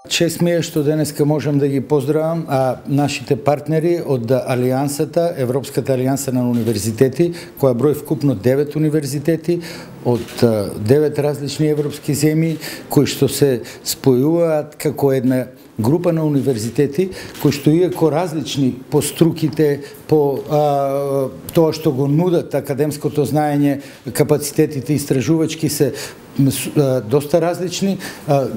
Чест ми е што денеска можам да ги поздравам нашите партнери од Алијансата, Европската алијанса на универзитети, која брои вкупно 9 универзитети од 9 различни европски земји, кои што се спојуваат како една група на универзитети, кои што иако различни по струките, по тоа што го нудат академското знаење, капацитетите истражувачки се доста различни,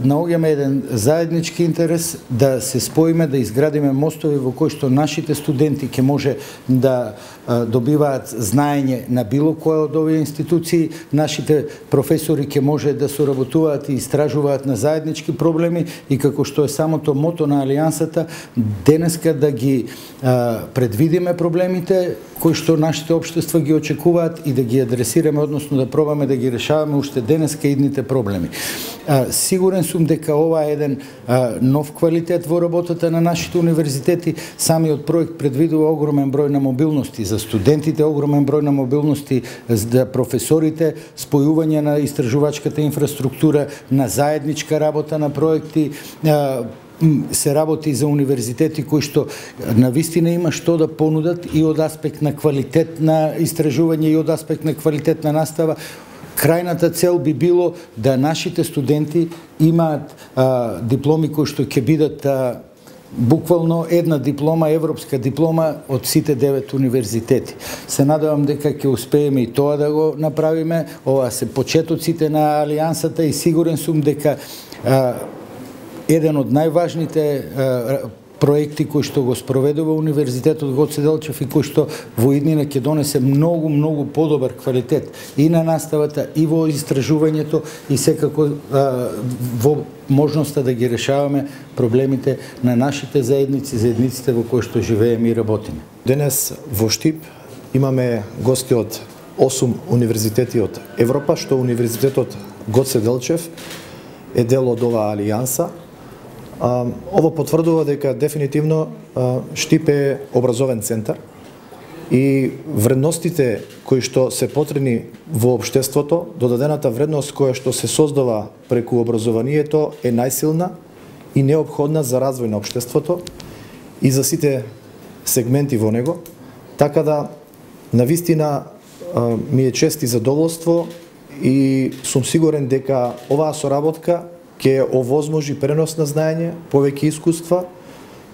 наоѓаме еден заеднички интерес да се споиме, да изградиме мостови во кои што нашите студенти ќе може да добиваат знаење на било која од овие институции, нашите професори ќе може да соработуваат и истражуваат на заеднички проблеми и како што е самото мото на Алијансата, денеска да ги предвидиме проблемите кои што нашите општества ги очекуваат и да ги адресираме, односно да пробаме да ги решаваме уште денеска идните проблеми. Сигурен сум дека ова е еден нов квалитет во работата на нашите универзитети. Самиот проект предвидува огромен број на мобилности за студентите, огромен број на мобилности за професорите, спојување на истражувачката инфраструктура, на заедничка работа на проекти, се работи за универзитети кои што навистина има што да понудат и од аспект на квалитет на истражување и од аспект на квалитет на настава. Крајната цел би било да нашите студенти имаат дипломи кои што ќе бидат буквално една диплома, европска диплома од сите 9 универзитети. Се надевам дека ќе успееме и тоа да го направиме. Ова се почетоците на Алијансата и сигурен сум дека еден од најважните проекти кои што го спроведува Универзитетот Гоце Делчев и кои што во иднина ќе донесе многу подобар квалитет и на наставата, и во истражувањето, и секако во можноста да ги решаваме проблемите на нашите заедниците во кои што живееме и работиме. Денес во Штип имаме гости од 8 универзитети од Европа, што Универзитетот Гоце Делчев е дел од оваа алијанса. Ово потврдува дека дефинитивно Штип е образовен центар и вредностите кои што се потребни во општеството, додадената вредност која што се создава преку образованието е најсилна и неопходна за развој на општеството и за сите сегменти во него. Така да, навистина ми е чест и задоволство и сум сигурен дека оваа соработка ќе овозможи пренос на знаење, повеќе искуства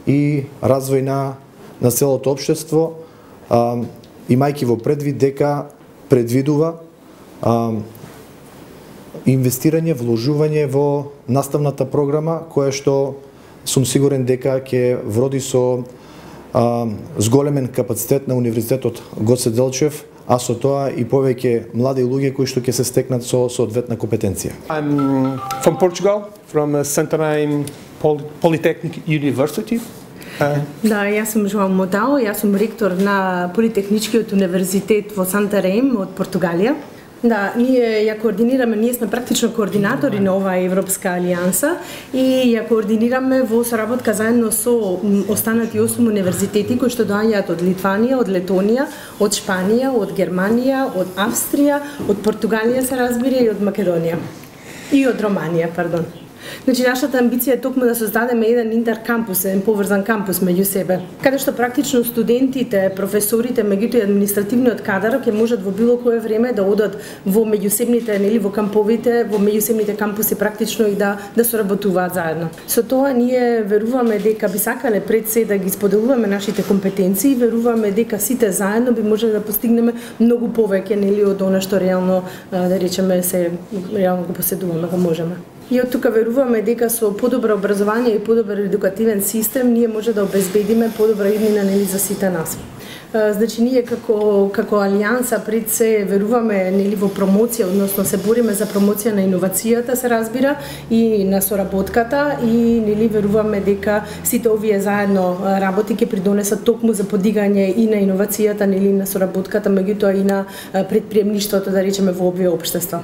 и развој на целото општество, имајќи во предвид дека предвидува инвестирање, вложување во наставната програма, која што сум сигурен дека ќе вроди со зголемен капацитет на Универзитетот Гоце Делчев, а со тоа и повеќе млади луѓе кои што ќе се стекнат со соодветна компетенција. I'm from Portugal, from Santarém Polytechnic University. Да, јас сум Жоао Модау, јас сум ректор на Политехничкиот универзитет во Сантарем од Португалија. Да, ние ја координираме, ние сме практично координатори на оваа Европска алијанса и ја координираме во соработка заедно со останати 8 универзитети кои што доаѓаат од Литванија, од Летонија, од Шпанија, од Германија, од Австрија, од Португалија се разбира и од Македонија. И од Романија, пардон. Значи, нашата амбиција е токму да создадеме еден интеркампус, еден поврзан кампус меѓу себе, каде што практично студентите, професорите, меѓуто и административниот кадар ќе можат во било кое време да одат во меѓусебните, нели, во камповите, во меѓусебните кампуси практично и да соработуваат заедно. Со тоа ние веруваме дека би сакале пред се да ги споделуваме нашите компетенции, веруваме дека сите заедно би можеле да постигнеме многу повеќе, нели, од она што реално, да речеме, се реално го поседуваме, го можеме. И од тука веруваме дека со подобро образование и подобар едукативен систем ние може да обезбедиме подобра иднина, нели, за сите нас. Значи ние како алијанса пред се веруваме, нели, во промоција, односно се бориме за промоција на иновацијата, се разбира, и на соработката и, нели, веруваме дека сите овие заедно работи ќе придонесат токму за подигање и на иновацијата, нели, на соработката, меѓутоа и на предприемништвото, да речеме, во овие општества.